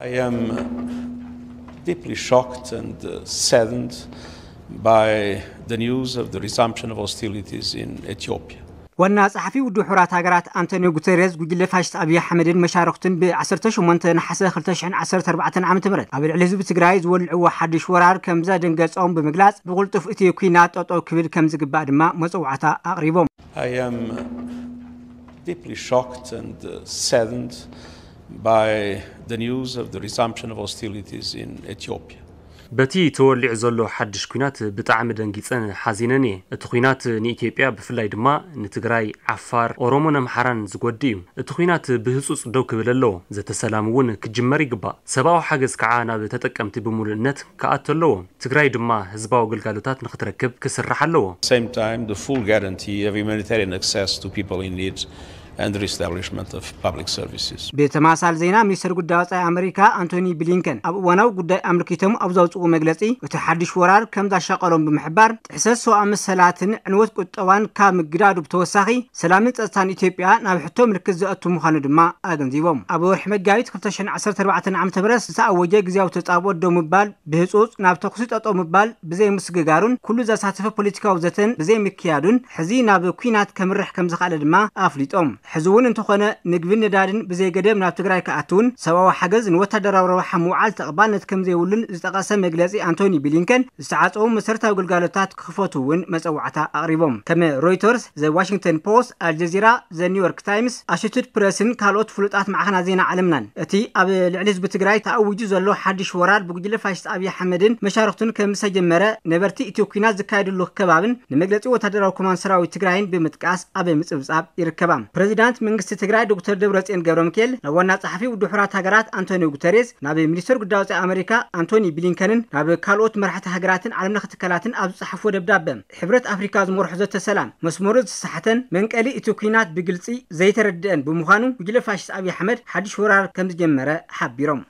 I am deeply shocked and uh, saddened by the news of the resumption of hostilities in Ethiopia. ዋና ጸሓፊ ውድብ ሕቡራት ሃገራት ኣንቶኒዮ ጉተሬዝ፣ ጉጅለ ፋሽስት ኣብይ ኣሕመድን መሻርኽቱን ብ18 ነሓሰ 2014 ዓ.ም ኣብ ልዕሊ ህዝቢ ትግራይ ዝወልዕዎ ሓድሽ ወራር ከም ዘደንገጾም ብምግላጽ፣ ብቕልጡፍ እቲ ኲናት ጠጠው ክብል ከም ዝግባእ ድማ መጸዋዕታ ኣቕሪቦም። I am deeply shocked and uh, saddened by the news of the resumption of hostilities in Ethiopia. በቲ ተወሊዑ ዘሎ ሓድሽ ኲናት ብጣዕሚ ደንጊጸን ሓዚነን እየ። እቲ ኲናት ንኢትዮጵያ፣ ብፍላይ ድማ ንትግራይ፣ ዓፋር፣ ኦሮሞን ኣምሓራን ዝጎድእ እዩ። እቲ ኲናት ብህጹጽ ደው ክብል ኣለዎ። ዘተ ሰላም እውን ክጅመር ይግባእ። ሰብኣዊ ሓገዝ ከዓ ናብ ተጠቀምቲ ብምሉእነት ክኣቱ ኣለዎ። ትግራይ ድማ ህዝባዊ ኣገልጋሎታት ንክትረክብ ክስራሕ ኣለዎ። Same time, the full guarantee of humanitarian access to people in need and the reestablishment of public services. ብተማሳል ዜና፣ ሚኒስትር ጉዳይ ወጻኢ ኣመሪካ ኣንቶኒ ብሊንከን ኣብ እዋናዊ ጉዳይ ኣመልኪቶም ኣብ ዘውፅኡ መግለጺ፣ እቲ ሓድሽ ወራር ከም ዛሻቀሎም ብምሕባር፣ ጥሕሰት ሰብኣዊ መሰላትን ዕንወት ቁጠባን ካብ ምግዳዱ ብተወሳኺ፣ ሰላምን ጸጥታን ኢትዮጵያ ናብ ሕቶ ምልክት ዘእቱ ምዃኑ ድማ ኣገንዚቦም። ኣብ ወርሒ መጋቢት 2014 ዓ.ም ዝተኣወጀ ግዜያዊ ተጻብኦ ደው ምባል ብህጹጽ ናብ ተኹሲ ጠጠው ምባል ብዘይምስግጋሩን ኩሉ ዘሳተፈ ፖለቲካዊ ዘተን ብዘይምክያዱን፣ ሕዚ ናብ ኲናት ከምርሕ ከም ዝኸኣለ ድማ ኣፍሊጦም። ሕዚ እውን እንተኾነ፣ ምግብን ነዳድን ብዘይገደብ ናብ ትግራይ ክኣትውን፣ ሰብኣዊ ሓገዝ ንወታደራዊ ረብሓ ምውዓል ተቐባልነት ከም ዘይብሉን ዝጠቐሰ መግለጺ ኣንቶኒ ብሊንከን፣ ዝተዓጸዉ መሰረታዊ ግልጋሎታት ክኽፈቱ እውን መጸዋዕታ ኣቕሪቦም። ከም ሮይተርስ፣ ዘ ዋሽንግተን ፖስት፣ ኣልጀዚራ፣ ዘ ኒውዮርክ ታይምስ፣ ኣሶሼትድ ፕረስን ካልኦት ፍሉጣት ማዕኸናት ዜና ዓለምናን፣ እቲ ኣብ ልዕሊ ህዝቢ ትግራይ ተኣዊጁ ዘሎ ሓድሽ ወራር ብጉጅለ ፋሽስት ኣብይ ኣሕመድን መሻርኽቱን ከም ዝተጀመረ፣ ነበርቲ እቲ ኲናት ዝካየደሉ ከባብን ንመግለጺ ወታደራዊ ኮማንድ ሰራዊት ትግራይን ብምጥቃስ ኣብ ምጽብጻብ ይርከባ። ፕሬዚዳንት መንግስቲ ትግራይ ዶክተር ደብረጽዮን ገብረ ሚካኤል ናብ ዋና ጸሓፊ ውድብ ሕቡራት ሃገራት ኣንቶኒዮ ጉተሬዝ፣ ናብ ሚኒስትር ጉዳይ ወጻኢ ኣመሪካ ኣንቶኒ ብሊንከንን ናብ ካልኦት መራሕቲ ሃገራትን ዓለም ለኸ ትካላትን ኣብ ዝጸሓፍዎ ደብዳበ፣ ሕብረት ኣፍሪካ ዝመርሖ ዘተ ሰላም መስመሩ ዝተሳሕተን መንቀሊ እቲ ኲናት ብግልጺ ዘይተረድአን ብምዃኑ፣ ጉጅለ ፋሽስት ኣብይ ኣሕመድ ሓድሽ ወራር ከም ዝጀመረ ሓቢሮም።